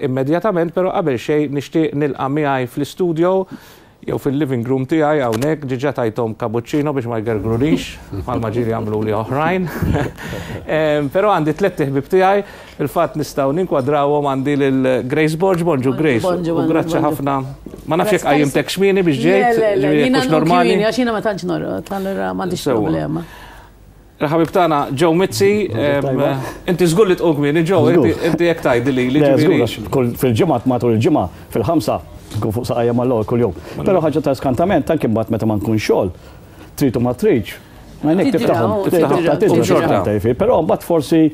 Immedjatament, però qabel xejn nixtieq nilqa' miegħi fl-istudio jew fil-living room tiegħi hawnhekk, ġiġa tajthom cappuccino biex ma jgergrunix, bħalma ġieli għamluli oħrajn. Però għandi tlett iħbieb tiegħi, fil-fatt nistgħu ninkwadrawhom għandi lil Grace Borg, bonġu Grace. Bonġu, U grazzi ħafna. Ma nafx jekk qajjimtek xmieni biex ġejt, ġifieri jekk hux normali. Għax jiena ma tantx norqod, allura m'għandix problema. Il-ħabib tagħna Joe Mizzi, inti żgur li tqum kmieni Joe, inti jekk tgħidli lili. Żgur, fil-ġimgħa matul il-ġimgħa fil-ħamsa nkun fuq saqajja mal-ewwel kuljum. Però ħaġa ta' skantament anke mbagħad meta ma nkun xogħol, trid u ma tridx. Għajnek tiftaħhom, tiftaħhom. Però mbagħad forsi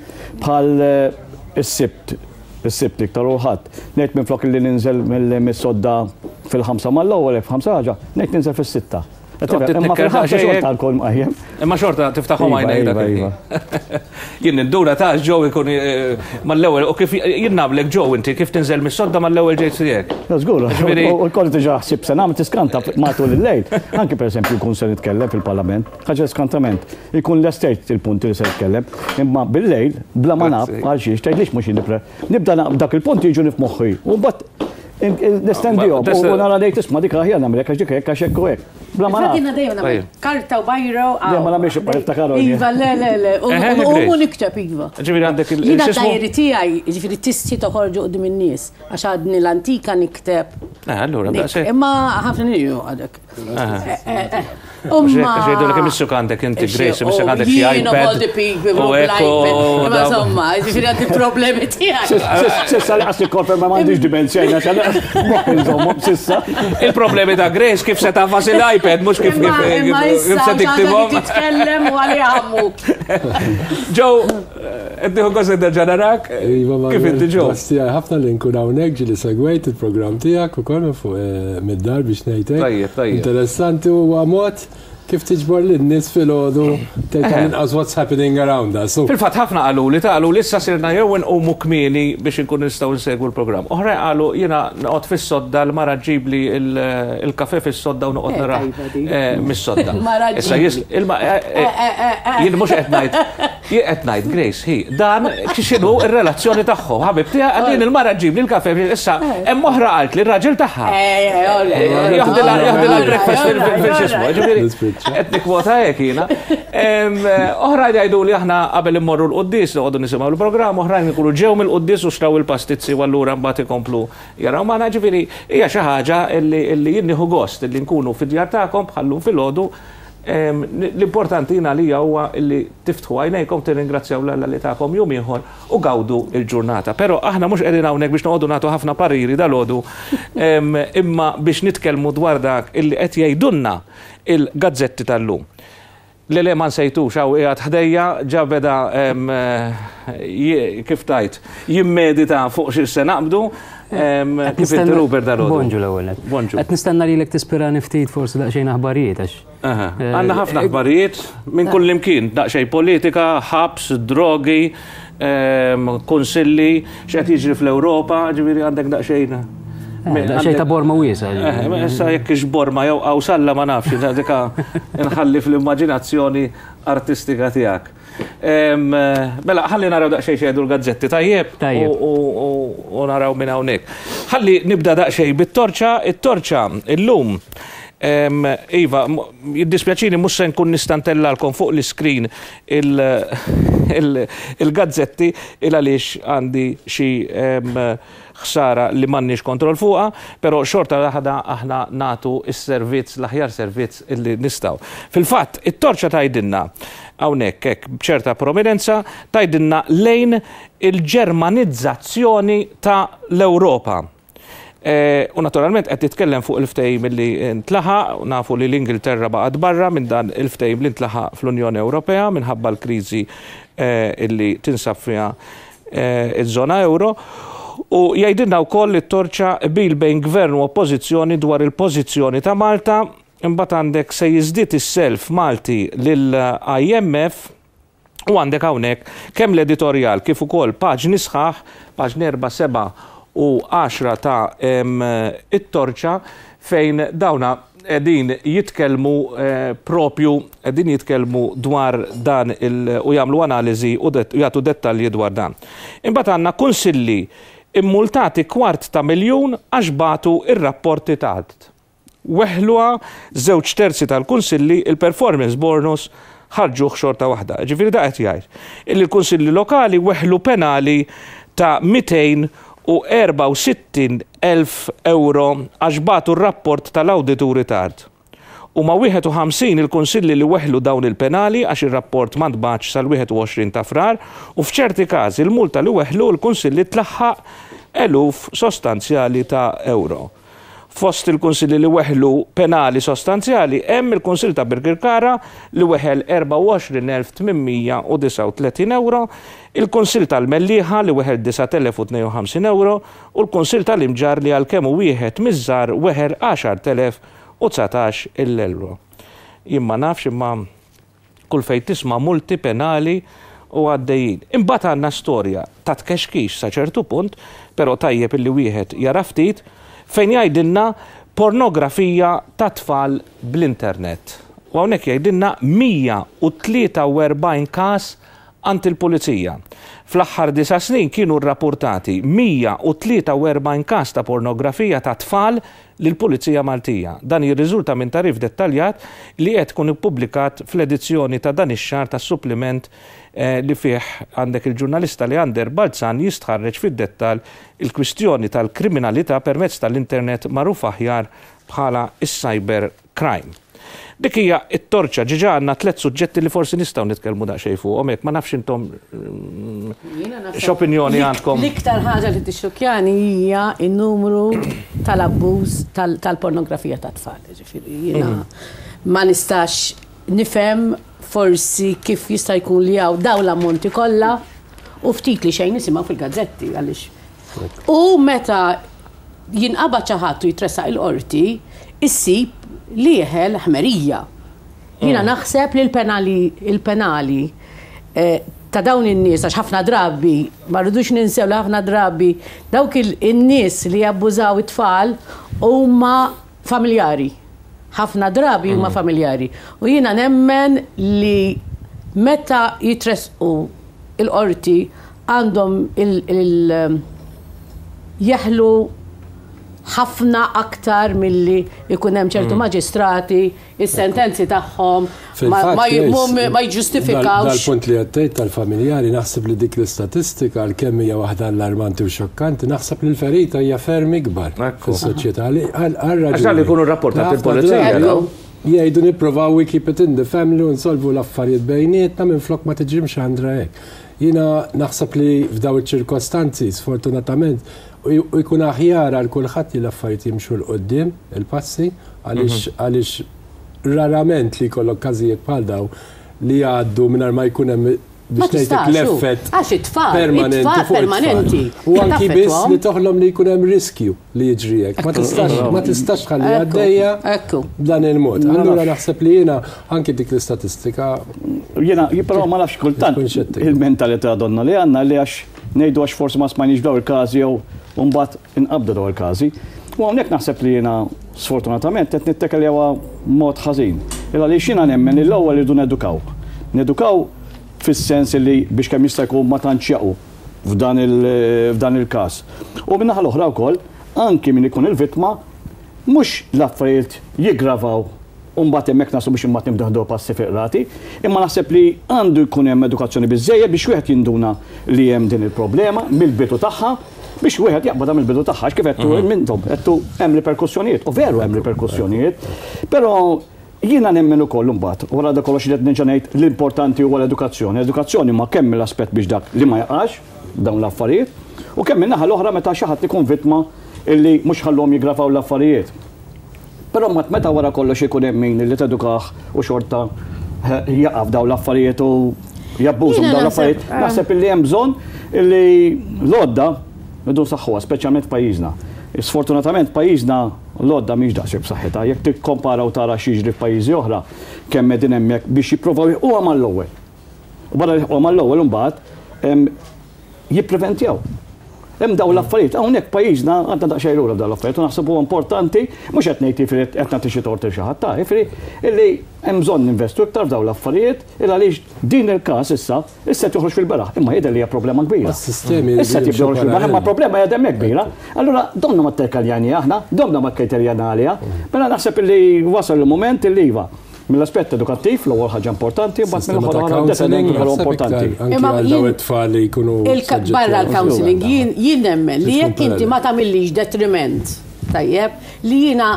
bħal eh, is-sibt, is-sibt iktar u ħadd. Ngħid minflok li ninżel mis-sodda fil-ħamsa mal-ewwel, f'ħamsa ħaġa, ngħid ninżel fis-sitta. Imma fil-ħamsa xorta nkun mqajjem. Imma xorta tiftaħhom iva, għajnejk dak iva, iva. Jien nindura ta' ġew ikun eh, mal-ewwel u kif jien nagħmlek ġew inti kif tinżel mis-sodda mal-ewwel ġejt tiegħek. Żgur, u kollu diġà ħsib se nagħmel tiskanta matul il-lejl. Anki pereżempju jkun se nitkellem fil-Parlament, ħaġa skantament. Ikun lestejt il-punti li se nitkellem, imma bil-lejl bla ma naf għal xiex tgħidlix mhux nipre. Nibda dak il-punti jiġu f'moħħi. U mbagħad Nestendihom u nara ngħid isma' dik aħjar nagħmel għax dik hekk għax hekk u hekk. Bla ma naf. Jiena dejjem nagħmel karta u bajro. Le ma nagħmilx ibqa' niftakar. Iva, le, le, le. U nikteb iva. Ġifieri għandek il Jiena d-dajri tiegħi, ġifieri tistħi toħorġu quddiem in-nies għax għadni l-antika nikteb. Eh, allura, daqshekk. Imma ħafna nies għadek. Umma. Għax jgħidu li kemm issuk għandek inti Grace, imissek għandek xi iPad. U ekku. Ma insomma, ġifieri għandi problemi tiegħi. Sissa li qas nikkonferma m'għandix dimenzja jiena sissa. Il-problemi ta' Grace kif se tafas il-iPad mhux kif kif se tiktibhom. Titkellem u għalli għammu. Joe, qed nieħu gost nerġa' narak. Iva, Kif inti Joe? Tiegħi ħafna li nkun hawnhekk ġieli segwejt il-programm tiegħek ukoll minn fuq eh, mid-dar biex ngħidlek. Tajjeb, tajjeb. Interessanti huwa mod kif tiġbor lin-nies filgħodu tgħid tal-inqas what's happening around us. Fil-fatt ħafna qaluli ta' qalu li issa sirna jew inqumu kmieni biex inkunu nistgħu nsegwu l-programm. Oħrajn qalu jiena noqgħod fis-sodda l-mara ġġibli l-kafè fis-sodda u noqgħod Eh, narah tajba di. eh, mis-sodda. Mara Issa ġġibli. jis ilma eh, eh, jien mhux qed ngħid Jien qed ngħid Grace hi dan x'inhu r-relazzjoni tagħhom. Ħabib tiegħi qal jien il-mara ġġibli l-kafè issa hemm oħra qalt li r-raġel tagħha. Jaħdilha jaħdilha l-breakfast fil-xismu. Ġifieri qed nikkwota hekk jiena. Oħrajn jgħidu li aħna qabel immorru l-quddies noqogħdu nisimgħu l-programm, oħrajn ikunu ġew mill-quddies u xtraw il-pastizzi u allura mbagħad ikomplu jaraw magħna. Ġifieri hija xi ħaġa li jien nieħu gost li nkunu fid-djar tagħkom bħal-lum filgħodu L-importanti jien għalija huwa li tiftħu għajnejkom, tirringrazzjaw 'l Alla li takom jum ieħor u gawdu l-ġurnata. Però aħna mhux qegħdin hawnhekk biex noqogħdu nagħtu ħafna pariri dalgħodu imma biex nitkellmu dwar dak illi qed jgħidulna il-gazzetti tal-lum. Le le ma nsejtux hawn qiegħed ħdejja ġa beda kif tgħid jimmedita fuq xi se naqbdu. Kif inti Rupert dalgħodu? Bonġu l-ewwel nett. Bonġu. Qed nistenna lilek tispirani ftit forsi daqsxejn aħbarijiet għax. Eh, Għandna ħafna aħbarijiet minn kull imkien, daqsxejn politika, ħabs, drogi, kunsilli, x'qed jiġri fl-Ewropa, ġifieri għandek daqsxejn. Eh, daqsxejn ta' borma wiesa. Eh, issa jekk ix borma jew qawsalla ma nafx, dika nħalli fl-immaġinazzjoni artistika tiegħek. Mela, ħalli naraw daqsxejn xejdu l-gazzetti, tajjeb? Tajjeb. U naraw minn hawnhekk. Ħalli nibda daqsxejn bit-torċa, it-torċa illum. Iva, jiddispjaċini mhux se nkun nista' ntellalkom fuq l-iskrin il-gazzetti il għaliex għandi xi ħsara li m'għandniex kontroll fuqha, però xorta waħda aħna nagħtu s-servizz, l-aħjar servizz illi nistgħu. Fil-fatt, it-torċa tgħidilna hawnhekk hekk b'ċerta prominenza, tgħidilna lejn il-Ġermanizzazzjoni ta' l-Ewropa. U naturalment qed titkellem fuq il-ftehim li ntlaħaq, nafu li l-Ingilterra baqgħet barra minn dan il-ftehim li ntlaħaq fl-Unjoni Ewropea minħabba l-kriżi illi tinsab fiha iż-żona ewro, u jgħidilna wkoll li t-torċa qbil bejn Gvern u Oppożizzjoni dwar il-pożizzjoni ta' Malta, imbagħad għandek se jiżdied is-self Malti lill-IMF, u għandek hawnhekk kemm l-editorjal kif ukoll paġni sħaħ, paġni 4, 7 u 10 ta' it-torċa fejn dawna qegħdin jitkellmu propju qegħdin jitkellmu dwar dan il u jagħmlu analiżi u jagħtu dettalji dwar dan. Imbagħad għandna kunsilli Immultati kwart ta' miljun għax bagħtu r-rapporti tard. Weħħluha żewġ terzi tal-kunsilli il-performance bonus ħarġuh xorta waħda. Jiġifieri da qed jgħid illi l-kunsilli lokali weħlu penali ta' 264,000 ewro għax bagħtu r-rapport tal-awdituri tard. Huma 51 il-kunsilli li weħlu dawn il-penali għax ir-rapport ma ntbagħatx sal-21 ta' Frar u f'ċerti każi l-multa li weħlu l-kunsilli tlaħħaq eluf sostanzjali ta' ewro. Fost il-kunsilli li weħlu penali sostanzjali hemm il-Kunsill ta' Birkirkara li weħel 24,839 ewro, il-Kunsill tal-Mellieħa li weħel 9,052 ewro u l-Kunsill tal-Imġarr li għalkemm hu wieħed miż-żgħar weħel 10,019 il-ewro. Jien ma nafx imma kull fejn tisma' multi penali u għaddejjin. Imbagħad għandna storja ta' tkexkix sa ċertu punt, però tajjeb illi wieħed jara ftit, fejn jgħidilna pornografija ta' tfal bl-internet. U hawnhekk jgħidilna 143 każ għand il-Pulizija. Fl-aħħar disa' snin kienu rrapurtati 143 każ ta' pornografija ta' tfal lill-Pulizija Maltija. Dan jirriżulta minn tagħrif dettaljat li qed ikun ippubblikat fl-edizzjoni ta' dan ix-xahar tas-suppliment li fih għandek il-ġurnalista Leander Balzan jistħarreġ fid-dettall il-kwistjoni tal-kriminalità permezz tal-internet magħruf aħjar bħala s-cyber crime. Dik hija t-torċa, ġiġa għandna tlett suġġetti li forsi nistgħu nitkellmu daqsxejn fuqhom hekk, ma nafx intom x'opinjoni għandkom. L-iktar ħaġa li tixxukkjani hija n-numru tal-abbuż tal-pornografija tat-tfal. Ġifieri jiena ma nistax nifhem forsi kif jista' jkun li hawn dawn l-ammonti kollha u ftit li xejn nisimgħu fil-gazzetti għaliex U meta jinqabad xi ħadd u jitressaq il-qorti, issib li jeħel ħmerija. Jiena mm. naħseb li l-penali il-penali eh, ta' dawn in-nies għax ħafna drabi ma rridux ninsew li ħafna drabi dawk in-nies li jabbużaw it-tfal huma familjari. Ħafna drabi huma mm. familjari. U jiena nemmen li meta jitresqu il-qorti għandhom il jeħlu ħafna aktar milli jkun hemm ċertu mm. maġistrati is-sentenzi tagħhom ma jġustifikawx. Dal-punt li għattejt tal-familjari naħseb li dik l-istatistika għalkemm hija waħda allarmanti u xokkanti, naħseb li l-ferita hija ferm ikbar fis-soċjetà. Għax li jkunu rapportat il-pulizija. Jgħidu nipprovaw we keep it in the family u nsolvu l-affarijiet bejnietna minflok ma tiġi mxandra hekk. Jiena naħseb li f'daw iċ-ċirkostanzi, sfortunatament, u jkun aħjar għal kulħadd li l-affarijiet jimxu 'l quddiem, il-passi, għaliex għaliex rarament li jkollok każijiet bħal daw li jgħaddu mingħajr ma jkun hemm biex ngħidlek l-effett permanenti fuq it-tfal. U anki biss li toħlom li jkun hemm riskju li jiġri hekk. Ma tistax ma tistax tħalli għaddejja b'dan il-mod. Allura naħseb li jiena anki dik l-istatistika. Jiena però ma nafx kultant il-mentalità donna li għandna li għax ngħidu għax forsi ma smajniex daw il-każi jew mbagħad inqabdu daw il-każi. U hawnhekk naħseb li jiena sfortunatament qed nittekeljawa mod ħażin. Il għaliex jiena nemmen li l-ewwel irridu nedukaw. Nedukaw fis-sens li biex kemm jista' jkun ma tantx jaqgħu f'dan il-każ. U min-naħa l-oħra wkoll, anki min ikun il-vittma, mhux l-affarijiet jiggravaw u mbagħad hemmhekk naslu biex imbagħad nibdew nieħdu passi fil-qrati, imma naħseb li għandu jkun hemm edukazzjoni biżżejjed biex wieħed jinduna li hemm din il-problema mill-bidu tagħha biex wieħed jaqbadha mill-bidu tagħha għax kif għedtu intom, għedtu hemm riperkussjonijiet u veru hemm riperkussjonijiet, però Jiena nemmen ukoll imbagħad, wara dak kollox li qed nerġa' ngħid, l-importanti huwa l-edukazzjoni. L-edukazzjoni ma kemm mill-aspett biex dak li ma jaqax f'dawn l-affarijiet, u kemm min-naħa l-oħra meta xi ħadd ikun vittma illi mhux ħalluhom jiggravaw l-affarijiet. Però mbagħad meta wara kollox ikun hemm min li tedukah u xorta jaqa' f'dawn l-affarijiet u jabbuża minn dawn l-affarijiet, naħseb illi hemm bżonn illi l-għodda rridu nsaħħuha, speċjalment f'pajjiżna. Sfortunatament pajjiżna L-għodda mhix daqshekk b'saħħitha. Jekk tikkompara u tara x'jiġri f'pajjiżi oħra, kemm qegħdin hemmhekk biex jipprovaw jilħquha mal-ewwel. U barra li jilħquha mal-ewwel imbagħad jippreventjaw. Hemm dawn l-affarijiet, hawnhekk pajjiżna għadna daqsxejn lura f'dawn l-affarijiet u naħseb huwa importanti, mhux qed ngħid jifieri qed nagħti xi tort lil xi ħadd ta' jifieri illi hemm bżonn ninvestu iktar f'dawn l-affarijiet il għaliex din il-każ issa issa qed joħroġ fil-beraħ, imma jidher li hija problema kbira. Is-sistemi Issa qed jibda joħroġ fil-beraħ, imma problema hija hemmhekk kbira. Allura domna ma tterkaljani aħna, domna ma kkriterjana għaliha. Mela naħseb illi wasal il-mument illi iva, Mill-aspett edukattiv, l-ewwel ħaġa importanti, mbagħad Sistema mill-aħħar ta' oħra counseling, deterrent ukoll naħseb importanti. iktar anki Imma għal daw jien- it-tfal li jkunu Il-ka- soġġetti Barra għal l-counseling, jien jien nemmen li Trid tkun jekk inti ma parallel. tagħmillix detriment, tajjeb, li jiena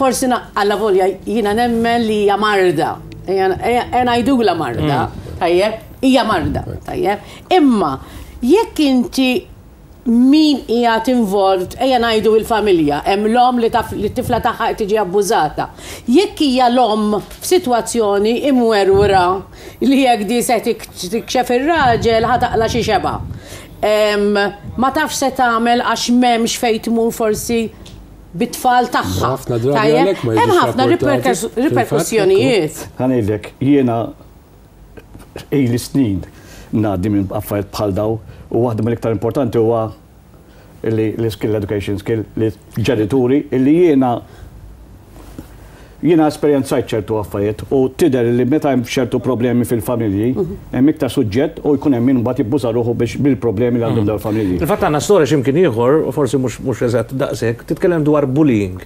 forsi na- alla volja jiena nemmen li hija marda. Ejja ejja ngħidulha marda, tajjeb, hija marda, tajjeb. Imma jekk inti min qiegħed involved, ejja ngħidu il-familja, hemm l-omm li taf li t-tifla tagħha qed tiġi abbużata. Jekk hija l-omm f'sitwazzjoni imwerwra li jekk di se tikxef ir-raġel ħa taqla' xi xebgħa. Ma tafx se tagħmel għax m'hemmx fejn tmur forsi bit-tfal tagħha. Ħafna drabi Tajjeb? għalhekk ma Hemm jiġux ħafna rapportati, fil-fatt, riperkussjonijiet. Ħa ngħidlek, jiena ili snin ngħaddi minn affarijiet bħal daw u waħda mill-iktar importanti huwa li l-skill education skill li ġenituri illi jiena jiena esperjenzajt ċertu affarijiet u tidher li meta hemm ċertu problemi fil-familji hemm iktar suġġett u jkun hemm min mbagħad jibbuża ruħu biex bil-problemi li għandhom dawn il-familji. Fil-fatt għandna storja x'imkien ieħor, forsi mhux eżatt daqshekk, titkellem dwar bullying.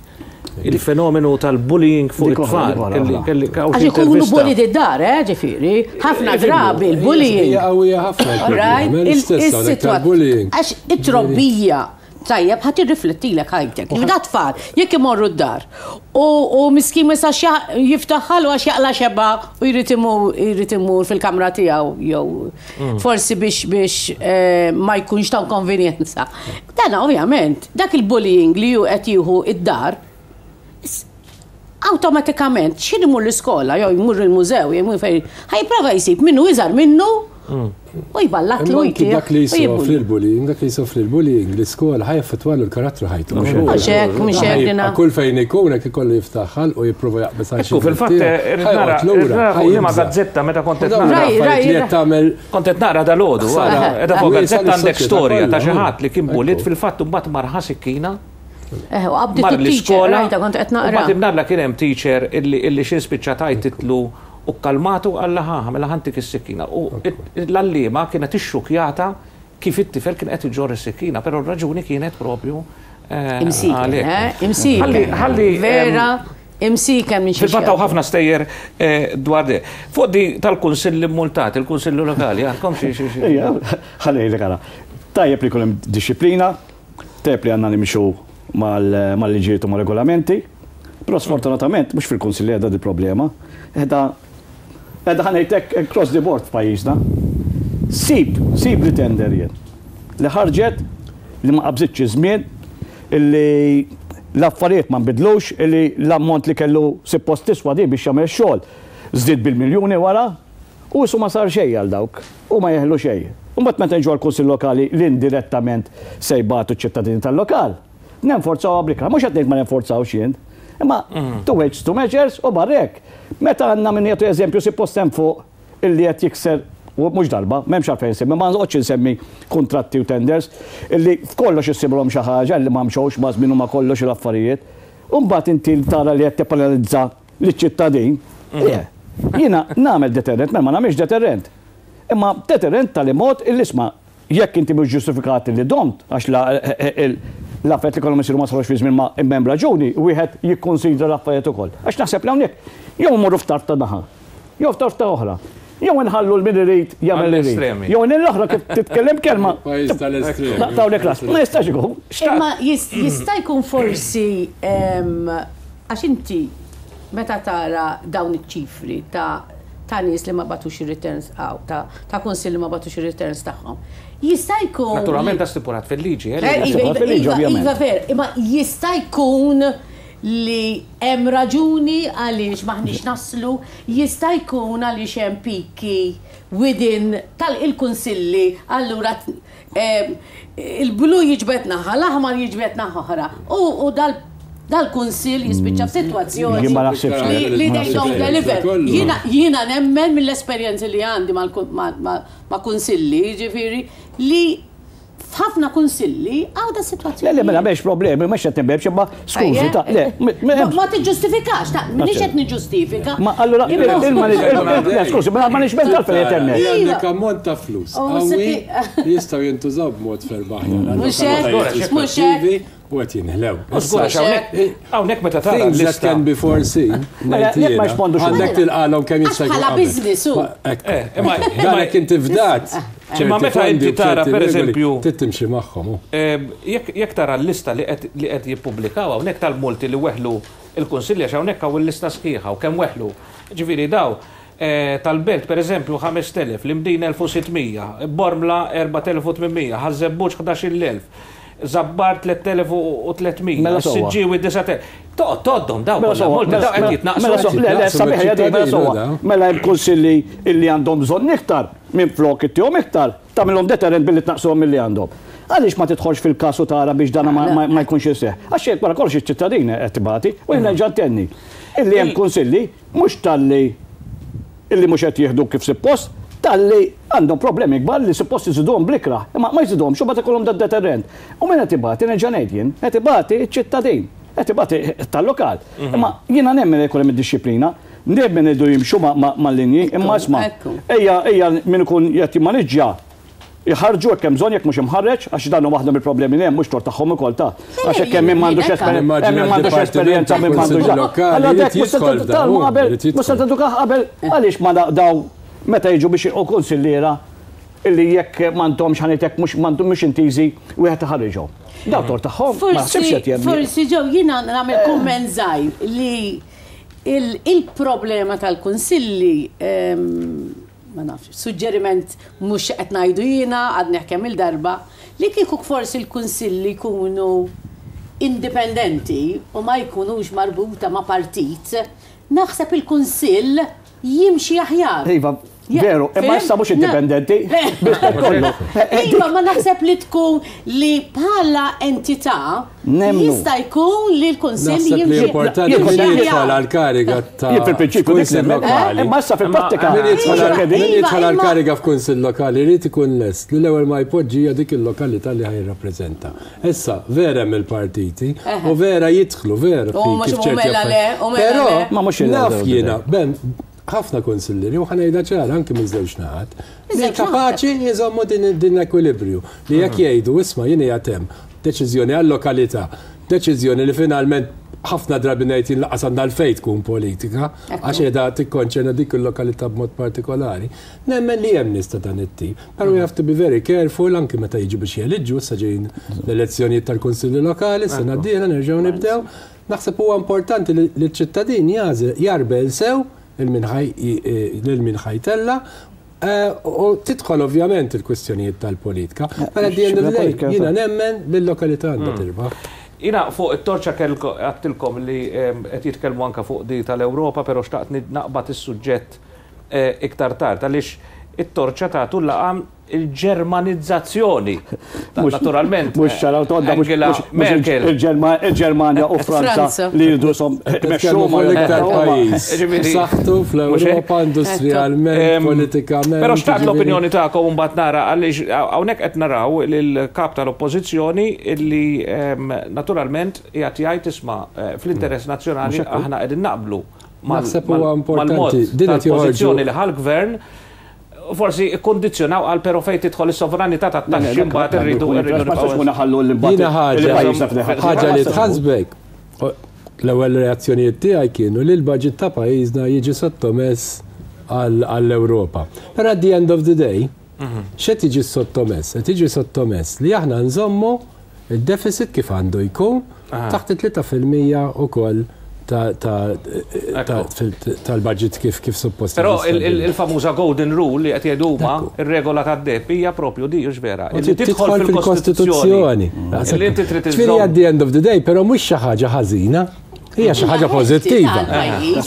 Il-fenomenu tal-bullying fuq it-tfal. Għax ikunu bullied id-dar, eh, ġifieri. Ħafna drabi l-bullying. Hija qawwija ħafna l-problema. Is-sitwazzjoni. Għax it-trobbija tajjeb ħa tirriflettilek ħajtek. Da tfal, jekk imorru d-dar u miskin ma jistax jiftaħ ħalqu għax jaqla' xebgħa u jrid imur jrid imur fil-kamra tiegħu jew mm. forsi biex biex eh, ma jkunx ta' konvenjenza. Dan ovvjament, dak il-bullying li hu qed jieħu id-dar, awtomatikament x'ħin imur l-iskola jew jmur il-mużew jew jmur fejn ħa jipprova jsib minnu iżgħar minnu u jballatlu Imma anki jtih dak li u jsofri jibbulli. l-bullying, dak li jsofri l-bullying, l-iskola ħa jaffettwalu l-karattru ħajtu. Mhux hekk, mhux Ħa hekk jibqa' dina. kull fejn ikun hekk ikollu jiftaħ ħalqu u jipprova jaqbeż għal xi Ekku, fil-fatt, dritt tiegħu, irrid ħa nara, joqgħod irrid lura, nara ħa fuq liema jibża'. gazzetta meta kont U qed dawn naqra. Raj, l-affarijiet raj, li qed raj. tagħmel Kont qed naqra dalgħodu, Ħsara ara, qiegħda fuq wiesgħa gazzetta għandek lis-soċjetà storja ta' kollha, xi hu. ħadd li kien bullied Ekku. fil-fatt u mbagħad mar ħa sikkina Eh, u qabditu mar t-teacher, l-iskola. rajta kont qed U naqra. mbagħad imnalla kien hemm teacher illi illi xi spiċċa tgħajtitlu u kkalmatu qalla ħa mela ħantik is-sikkina. U l-għalliema kienet ixxukjata kif it-tifel kien qed iġorr is-sikkina, però r-raġuni kienet propju eh, Imsiken, għalhekk. eh? Imsiken. Ħalli ħalli Vera, imsiken minn xi Fil-fatt hawn ħafna stejjer eh, dwar di. Fuq di tal-kunsilli multat, il-kunsilli lokali, għandkom xi xi xi. Ejja, ħalli ngħidlek ara. Tajjeb li jkun hemm dixxiplina, tajjeb li għandna nimxu mal-liġijiet u mar-regolamenti, però sfortunatament mhux fil-kunsilli qiegħda dil-problema, qiegħda qiegħda ħa ngħid hekk across the board f'pajjiżna. Sib, sib li tender jien li ħarġet li ma qabżitx iż-żmien, illi l-affarijiet ma nbidlux, illi l-ammont li kellu suppost tiswa di biex jagħmel ix-xogħol żdied bil-miljuni wara, U qisu ma sar xejn għal dawk. U ma jeħlu xejn. U mbagħad meta niġu għall-Kunsill Lokali li indirettament se jbatu ċ-ċittadini tal-lokal, nenforzawha bl-ikrah. Mhux qed ngħid ma nenforzawx jien. Imma two weights two measures u barra hekk. Meta għandna min jagħti eżempju suppost hemm fuq illi qed jikser u mhux darba, m'hemmx għalfejn insemmi, ma noqgħodx insemmi kuntratti u tenders, illi f'kollox issibulhom xi ħaġa illi ma mxewx maż-żmien u ma kollox u l-affarijiet. U mbagħad inti tara li qed tippenalizza liċ-ċittadin, le. Jiena nagħmel deterrent, mela ma nagħmilx deterrent. Imma deterrent tali mod illi isma' jekk inti mhux ġustifikat illi domt, għax l-affarijiet li kellhom isiru ma sarux fi żmien ma imma hemm raġuni, wieħed jikkunsidra l-affarijiet ukoll. Għax naħseb li hawnhekk jew immorru f'tarf ta' naħa, jew f'tarf ta' oħra. Jew inħallu l min irid jagħmel li jrid. Jew l-oħra kif titkellem kelma. Pajjiż tal-estremi. Naqtgħulek ras. Ma jistax ikun. Imma jista' jkun forsi għax inti Meta tara dawn iċ-ċifri ta' ta' nies li ma bagħtux ir-returns hawn, ta' ta' kunsilli ma bagħtux ir-returns tagħhom, jista' jkun. Naturalment da stipulat fil-liġi, eh? Eh, Stipulat fil-liġi, iva, ovvjament. Iva, ver, imma jista' jkun li hemm raġuni għaliex m'aħniex naslu, jista' jkun għaliex hemm piki within tal-kunsilli, allura Il-blu jiġbed naħa, l-aħmar jiġbed naħa oħra. U dal-kunsill jispiċċa f'sitwazzjoni li they don't deliver. Jiena nemmen mill-esperjenzi li għandi ma' kunsilli, jiġifieri, li F'ħafna kunsilli hawn da sitwazzjoni. Le, le, mela m'hemmx problemi, mhux qed nibgħeb imma skużi ta' le. Ma tiġġustifikax, ta' m'iniex qed niġġustifika. Ma allura il-management, skużi, mela l-management għalfejn qed hemmhekk. Għandek ammont ta' flus qawwi li jistgħu jintużaw b'mod ferm aħjar. Mhux hekk, mhux hekk. U qed jinħlew. Żgur għax hawnhekk hawnhekk meta tara Things that can be foreseen, Mela, ngħid jekk ma jiena, jispondux għandek tilqalhom kemm jista' jkun Bħala qabel. business hu. Ma- ekku. Eh, imma- Dan jekk inti fdat Imma ċerti meta fondi inti u tara, ċerti per regoli, eżempju- trid timxi magħhom. hu. Ehm, Jekk jekk tara l-lista li qed li qed jippubblikaw hawnhekk tal-multi li weħlu il-Kunsilli għax hawnhekk hawn il-lista sħiħa u kemm weħlu. Ġifieri daw eh, tal-Belt pereżempju 5000, l-Imdina 1600, Bormla 4800, Ħaż-Żebbuġ 11000, Żabbar 3300, Mela sewwa. Siġġiewi 9000. Toqgħod tgħoddhom daw Mela kollha sewwa, multi daw qed jitnaqqsu. mela sewwa, le, le, Jitnaqqsu sabiħ hija din, mela sewwa. mill-ċittadini, Mela hemm kunsilli illi għandhom bżonn iktar, minflok ittihom iktar, tagħmilhom deterrent billi tnaqqsuhom milli għandhom. Għaliex ma tidħolx fil-każ u tara biex dana ma- ma ma jkunx iseħħ? Għax jekk wara kollox iċ-ċittadin qed tibati, u jien nerġa' ntenni. Illi hemm kunsilli mhux talli illi mhux qed jieħdu kif suppost, talli għandhom problemi kbar li suppost iżiduhom bl-ikrah, imma ma jżiduhomx u mbagħad ikollhom dad-deterrent. U min qed ibati, nerġa' ngħid jien, qed ibati ċ-ċittadin, qed ibati tal-lokal. Imma jiena nemmen li jkun hemm id-dixxiplina, nemmen li jridu jimxu mal-linji, imma isma' ejja ejja min ikun qed jimmaniġġja jħarrġu jekk hemm bżonn jekk mhux imħarreġ, għax dan hu waħda mill-problemi li hemm mhux tort tagħhom ukoll ta' għax jekk hemm min m'għandux esperjenza, hemm min m'għandux esperjenza, min m'għandux dan. Allura dak mhux se tgħallmu qabel, mhux se tedukah qabel, għaliex ma daw meta jiġu biex u kunsilliera illi jekk m'għandhomx ħa ngħid hekk mhux mhux intiżi wieħed iħarriġhom. Daw tort tagħhom, ma naħsibx qed jemmi. Forsi ġew jiena nagħmel kumment żgħir li il-problema tal-kunsilli ma nafx, suġġeriment mhux qed ngħidu jiena, għadni kemm il-darba, li kieku forsi l-kunsilli jkunu indipendenti u ma jkunux marbuta ma' partit, naħseb il-kunsill jimxi aħjar. Iva, veru, imma issa mhux indipendenti. Kollu. Iva, ma naħseb li tkun li bħala entità jista' jkun li l-Kunsill Naħseb li jimxi. importanti Jien min kont- jidħol għall-kariga ta' Jien fil-prinċipju dik kunsill nemmen, lokali. imma issa fil-prattika. Min jidħol mhux għal- min Iva, jidħol imma- għall-kariga f'kunsill lokali jrid ikun lest li l-ewwel ma jpoġġi hija dik il-lokalità li ħa jirrappreżenta. Issa, vera hemm il-partiti u vera jidħlu vera U fi mhux kif u ċerti mela le, u mela Però le. Ma mhux il- naf jiena, ben, ħafna kunsillieri u ħa ngħidha ċara anki minn żewġ naħat, li Żewġ naħat. kapaċi jżommu din din l-ekwilibrju li jekk jgħidu isma' jien qiegħed hemm deċiżjoni għal-lokalità, deċiżjoni li finalment ħafna drabi ngħid jien lanqas għandha għalfejn tkun politika, għax qiegħda tikkonċerna dik il-lokalità b'mod partikolari. Nemmen li hemm nies ta' dan it-tip. Però we have to be very careful anki meta jiġu biex jeliġġu, issa ġejjin l-elezzjonijiet tal-kunsilli lokali, sena d-dieħla nerġgħu nibdew. Naħseb huwa importanti li l-ċittadin jagħżel jarbel sew lil min ħajtella u tidħol ovvjament il-kwistjonijiet tal-politika. Però at the end of the day, jiena nemmen li l-lokalità għandha tirbaħ. Jiena fuq it-torċa għedtilkom li qed jitkellmu anka fuq di tal-Ewropa, però xtaqt naqbad is-suġġett iktar tard għaliex it-torċa tagħtu laqam il-Ġermanizzazzjoni. Naturalment. Mhux ċaraw todda, mhux Angela Merkel. Il-Ġermanja u Franza li jridu som Nitkellmu fuq l-iktar pajjiż. Saħtu fl-Ewropa industrialment, politikament. Però xtaqt l-opinjoni tagħkom mbagħad nara għaliex hawnhekk qed naraw lill-kap tal-Oppożizzjoni illi naturalment qiegħed jgħid isma' fl-interess nazzjonali aħna qegħdin naqblu Naħseb huwa importanti. Din qed joħorġu li ħal-gvern forsi ikkondizzjonaw għal pero fejn tidħol is-sovranità tat-taxxi mbagħad irridu irridu ħaġa li tħasbek. L-ewwel reazzjonijiet tiegħi kienu li l-budget ta' pajjiżna jiġi sottomess għall-Ewropa. Però at the end of the day, x'qed jiġi sottomess? Qed jiġi sottomess li aħna nżommu il-deficit kif għandu jkun taħt it-3% ukoll tal-budget kif suppost. Però il-famuża golden rule li qed jgħidu huma ir-regola tad-deheb hija propju di vera. Li tidħol fil-Kostituzzjoni. Li inti trid Ġifieri at the end of the day, però mhux xi ħaġa ħażina. Hija xi ħaġa pożittiva.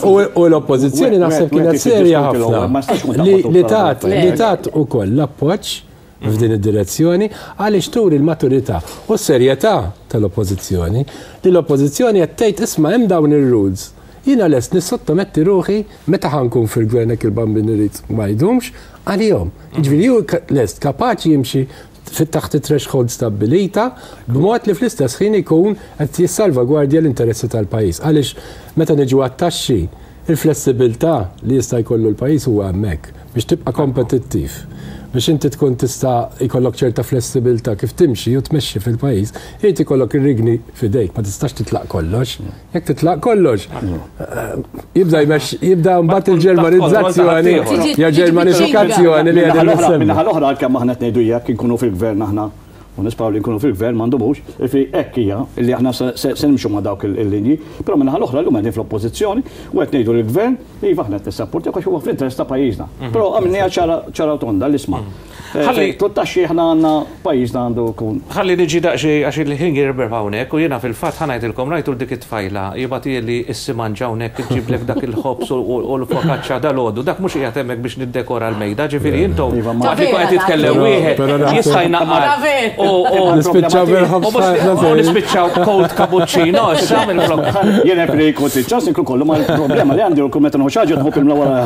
U l-oppożizzjoni naħseb kienet serja ħafna li tat li tat ukoll l-appoġġ f'din id-direzzjoni għaliex turi l-maturità u s-serjetà tal-oppożizzjoni li l-oppożizzjoni qed tgħid isma' hemm dawn ir-rules. Jiena lest nissottometti ruħi meta ħa nkun fil-gvern hekk il-bambin irid ma jdumx għalihom. Jiġifieri hu lest kapaċi jimxi Taħt it-threshold stabbilita, b'mod li fl-istess ħin ikun qed jissalvagwardja l-interessi tal-pajjiż. Għaliex meta niġu għat-taxxi, il-flessibilità li jista' jkollu l-pajjiż huwa hemmhekk biex tibqa' kompetittiv. Biex inti tkun tista' jkollok ċerta flessibilità kif timxi u tmexxi fil-pajjiż, irid ikollok ir-rigni f'idejk, ma tistax titlaq kollox. Jekk titlaq kollox, jibda jmex, jibda mbagħad il-Ġermanizzazzjoni, ja Ġermanifikazzjoni li qegħdin nissemmu. Min-naħa l-oħra għalkemm aħna qed ngħidu jekk inkunu fil-gvern aħna u nisperaw li nkunu fil-gvern ma ndumux, jiġifieri hekk hija li aħna se nimxu ma' dawk il-linji, però min-naħa l-oħra llum qegħdin fl-oppożizzjoni u qed ngħidu lill-gvern iva aħna qed nissapportjawk għax huwa fl-interess ta' pajjiżna. Però għamilniha ċara u tonda l-isma'. Ħalli taxxi aħna għandna pajjiżna għandu jkun. Ħalli niġi daqsxejn għax il-ħin jirbeħ hawnhekk u jiena fil-fatt ħa ngħidilkom rajtu dik it-tfajla jibgħatieli s-simanġa hawnhekk iġġiblek dak il-ħobż u l-focaccia dalgħodu. Dak mhux qiegħed hemmhekk biex niddekora l-mejda, ġifieri intom waqt li jkun qed jitkellem wieħed jista' jnaqqar u Nispiċċaw bil-ħobż u nispiċċaw cold cappuccino issa minflok. Jien hekk li jkun tiċċas inkun kollu ma l-problema li għandi u meta nieħu xi ħaġa nħobb imla wara.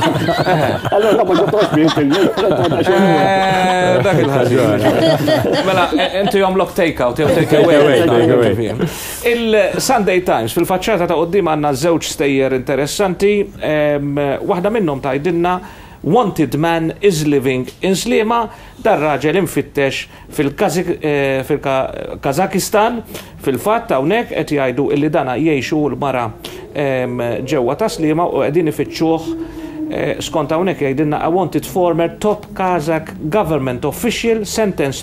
Allora ma ġobtux bih Dak il-ħaġa. Mela, inti jomlok take out, jew take away. Il-Sunday Times, fil-faċċata ta' qoddim għandna żewġ stejjer interessanti. Waħda minnhom tgħidilna "Wanted man is living in Sliema", dar raġel imfittex fil-Kazakistan, fil-fatt hawnhekk qed jgħidu illi dana jgħixu l-mara ġewwa ta' Sliema u qegħdin ifittxuh skont hawnhekk jgħidilna "A wanted former top Kazakh government official sentenced